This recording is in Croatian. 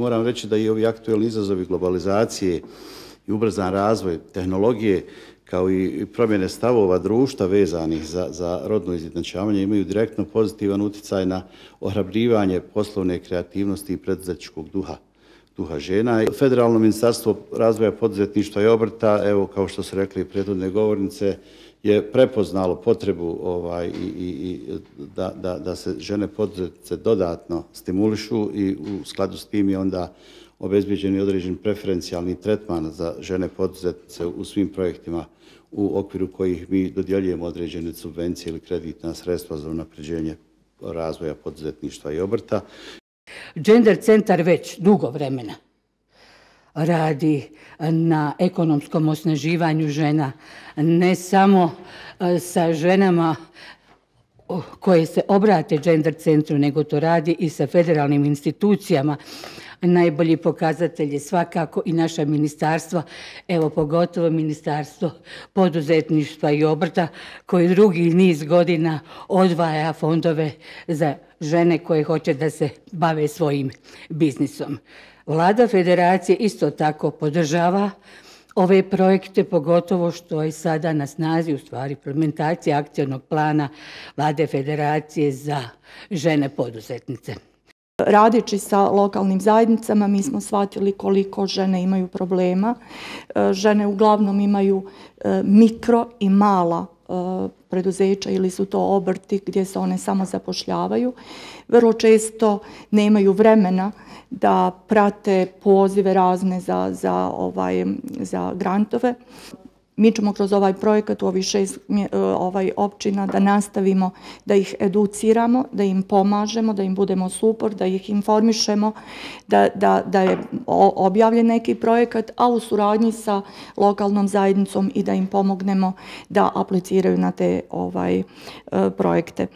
Moram reći da i ovi aktualni izazovi globalizacije i ubrzan razvoj tehnologije kao i promjene stavova društva vezanih za rodno izjednačavanje imaju direktno pozitivan utjecaj na ohrabrivanje poslovne kreativnosti i preduzetničkog duha žena. Federalno ministarstvo razvoja poduzetništva i obrta, evo kao što su rekli prethodne govornice, je prepoznalo potrebu da se žene poduzetnice dodatno stimulišu i u skladu s tim je onda obezbeđen određen preferencijalni tretman za žene poduzetnice u svim projektima u okviru kojih mi dodjeljujemo određene subvencije ili kreditna sredstva za unapređenje razvoja poduzetništva i obrta. Gender centar već dugo vremena radi na ekonomskom osnaživanju žena, ne samo sa ženama koje se obrate Gender centru, nego to radi i sa federalnim institucijama. Najbolji pokazatelj je svakako i naša ministarstva, evo pogotovo Ministarstvo poduzetništva i obrta koji drugi niz godina odvaja fondove za žene koje hoće da se bave svojim biznisom. Vlada Federacije isto tako podržava ove projekte, pogotovo što je sada na snazi u stvari implementacija akcionog plana Vlade Federacije za žene poduzetnice. Radeći sa lokalnim zajednicama mi smo shvatili koliko žene imaju problema. Žene uglavnom imaju mikro i mala preduzeća ili su to obrti gdje se one samo zapošljavaju. Vrlo često nemaju vremena da prate pozive razne za grantove. Mi ćemo kroz ovaj projekat u ovih 6 općina da nastavimo da ih educiramo, da im pomažemo, da im budemo suport, da ih informišemo, da je objavljen neki projekat, a u suradnji sa lokalnom zajednicom i da im pomognemo da apliciraju na te projekte.